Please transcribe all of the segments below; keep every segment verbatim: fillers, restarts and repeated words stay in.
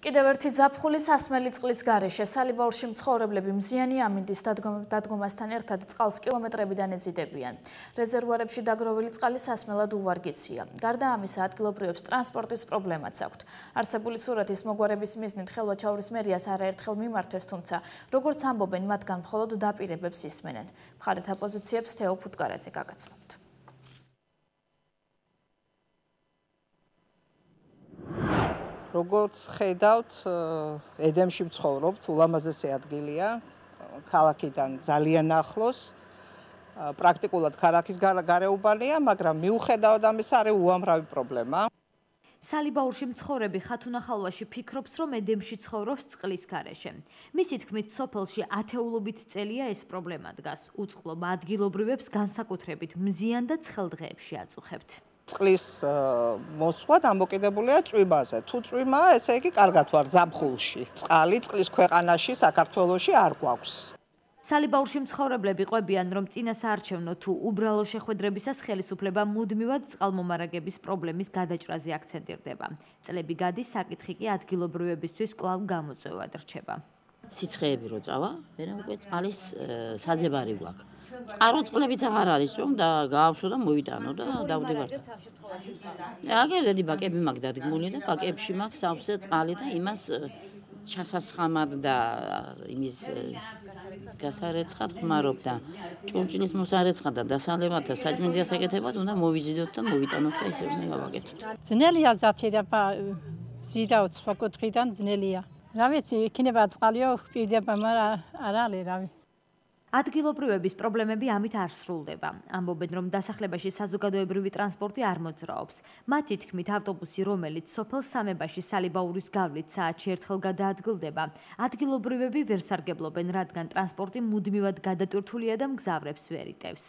კიდევ ერთი ზაფხული სასმელი წყლის გარეშე სალიბაურში მცხოვრებლები მზიანი ამინდის დადგომასთან ერთად წყალს კილომეტრებიდან ეზიდებიან. რეზერვუარებში დაგროვილი წყალი სასმელად უვარგისია. გარდა ამისა, ადგილობრივებს ტრანსპორტის პრობლემაც აქვთ. არსებული სურათის მოგვარების მიზნით ხელვაჩაურის მერიას არაერთხელ მიმართეს, თუმცა როგორც ამბობენ, მათგან მხოლოდ დაპირებებს ისმენენ. მხარეთა პოზიციებს თეო ფუტკარაძე გაგაცნობთ. როგორც ხედავთ, ედემში ვცხოვრობთ, ულამაზესი ადგილია, ქალაქიდან ძალიან ახლოს. პრაქტიკულად ქალაქის გარეუბანია, მაგრამ მიუხედავად ამისა, არის უამრავი პრობლემა. სალიბაურში მცხოვრები ხათუნა ხალვაში ფიქრობს, რომ ედემში ცხოვრობს წყლის გარეშე. მისი თქმით, სოფელში ათეულობით წელია ეს პრობლემა დგას. უწყლობა ადგილობრივებს განსაკუთრებით მზიან და ცხელ დღეებში აწუხებთ. წყლის მოსვლა დამოკიდებულია წვიმაზე. თუ წვიმაა, ესე იგი კარგად ვარ ზაფხულში. წყალი წყლის ქვეყანაში, საქართველოში არ გვაქვს. სალიბაურში მცხოვრებლები ყვებიან, რომ წინასაარჩევნო თუ უბრალო შეხვედრებისას ხელისუფლება მუდმივად წყალმომარაგების პრობლემის გადაჭრაზე აქცენტირდება. წლები გადის, საკითხი კი ადგილობრივებისთვის კვლავ გამოწვევად რჩება. სიცხეები რო წავა, მერე უკვე წყალის საძებარი გვაქვს. წყარო წყლებიც აღარ არის, რომ და გაავსო და მოვიტანო და დავდებარ. აგერდედი ბაკები მაქვს დადგმული და ბაკებში მაქვს სავსე წყალი და იმას ჩასასხამად და იმის გასარეცხად ხმარობ და ჭურჭლის მოსარეცხად და დასალევად და საჭმლის გასაკეთებად უნდა მოვიზიდოთ და მოვიტანოთ და ისე უნდა გავაკეთოთ. ძნელია ზათირება ზიდაო სხვა კუთხიდან ძნელია. რა ვიცი, იქნება წყალიო ვპირდება, მაგრამ არ არის რავი. ადგილობრივების პრობლემები ამით არ სრულდება. ამბობენ, რომ დასახლებაში საზოგადოებრივი ტრანსპორტი არ მოძრაობს. მათი თქმით, ავტობუსი, რომელიც სოფელ სამებაში სალიბაურის გავლით საათში ერთხელ გადაადგილდება, ადგილობრივები ვერ სარგებლობენ, რადგან ტრანსპორტი მუდმივად გადატვირთულია და მგზავრებს ვერ იტევს.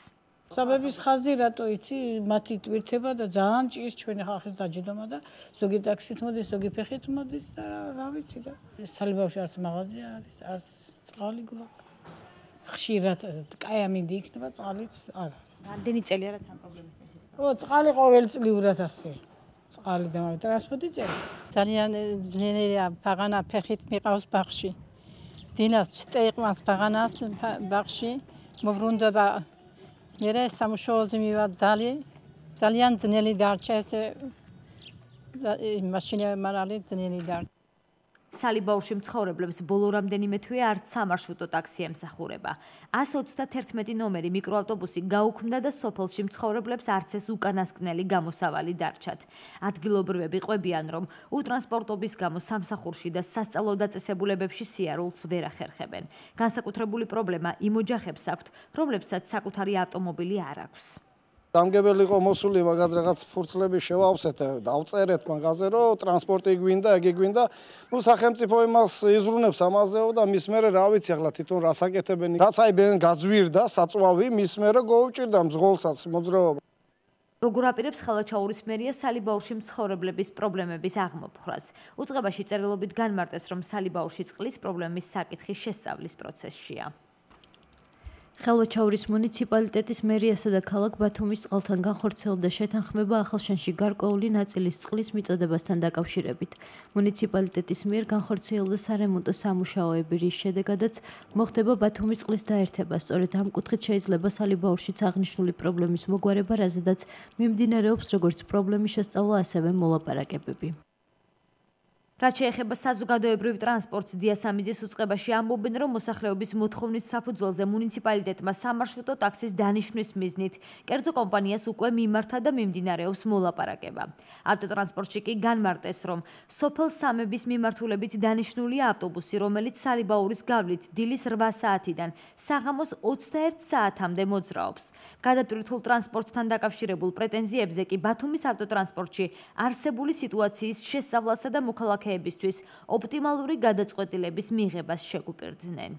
საბების ხაზი რატო იცი, მათი ტვირთება და ძალიან ჭირს ჩვენი ხალხის დაჯდომა და ზოგი ტაქსით მოდის, ზოგი ფეხით მოდის და რა ვიცი და სალიბაურში არც მაღაზია არის, არც წყალი გვაქვს. ხშირად კაი ამინდი იქნება, წყალიც არ არის. რამდენი წელია რაც ამ პრობლემის ეს? ო, წყალი ყოველწლიურად ასე. წყალი და ტრანსპორტი წერს. ძალიან ძნელია, ბაღანა ფეხით მიყავს ბაღში. დინას წეიყვანს ბაღანას ბაღში, მოbrunდება. მერე სამუშაოზე მივა ძალი, ძალიან ძნელი დარჩა ესე მაშინა მარალი ძნელი დარჩა. სალიბაურში მცხოვრებლებს ბოლო რამდენიმე თვე არც სამარშრუტო ტაქსი ემსახურება. ას ოცდაათი ნომერი მიკროავტობუსი გაუქმდა და სოფელში მცხოვრებლებს არც ეს უკანასკნელი გამოსავალი დარჩათ. ადგილობრივები ყვებიან, რომ უტრანსპორტობის გამო სამსახურში და სასწავლო დაწესებულებებში სიარულს ვერ ახერხებენ. განსაკუთრებული პრობლემა იმ ოჯახებს აქვთ, რომლებსაც საკუთარი ავტომობილი არ აქვს. დამგებელი იყო მოსული მაგას რაღაც ფურცლები შევავსეთ და დავწერეთ მაგაზე რომ ტრანსპორტი გვინდა, ეგ გვინდა. ნუ სახელმწიფო იმას იზრუნებს ამაზეო და მის მერე რა ვიცი ახლა თვითონ რას აკეთებენ. რაც აი ბენ გაძვირდა საწვავი, მის მერე გოუჭირდა მძღოლსაც მოძრაობა. როგორ აპირებს ხელვაჩაურის მერია სალიბაურში მცხოვრებლების პრობლემების აღმოფხვრას. უწყებაში წერილობით განმარტეს, რომ სალიბაურში წყლის პრობლემის საკითხი შესწავლის პროცესშია. ხელვაჩაურის მუნიციპალიტეტის მერიასა და ქალაქ ბათუმის წყალთან განხორციელდა შეთანხმება ახალშენში გარკვეული ნაწილის წყლის მიწოდებასთან დაკავშირებით. მუნიციპალიტეტის მიერ განხორციელდა სარემონტო სამუშაოები, რის შედეგადაც მოხდება ბათუმის წყლის დაერთება. სწორედ ამ კუთხით შეიძლება სალიბაურშიც აღნიშნული პრობლემის მოგვარება, რაზედაც მიმდინარეობს როგორც პრობლემის შესწავლა, ასევე მოლაპარაკებები. რაც შეეხება საზოგადოებრივ ტრანსპორტს, დიასამიძის უწყებაში ამბობენ, რომ მოსახლეობის მოთხოვნის საფუძველზე მუნიციპალიტეტმა სამარშრუტო ტაქსის დანიშვნის მიზნით კერძო კომპანიას უკვე მიმართა და მიმდინარეობს მოლაპარაკება. ავტოტრანსპორტში კი განმარტეს, რომ სოფელ სამების მიმართულებით დანიშნულია ავტობუსი, რომელიც სალიბაურის გავლით დილის რვა საათიდან საღამოს ოცდაერთ საათამდე მოძრაობს. გადატვირთულ ტრანსპორტთან დაკავშირებულ პრეტენზიებზე კი ბათუმის ავტოტრანსპორტში არსებული სიტუაციის შესწავლასა და მოქალაქეებისთვის ოპტიმალური გადაწყვეტილების მიღებას შეგუპირდნენ.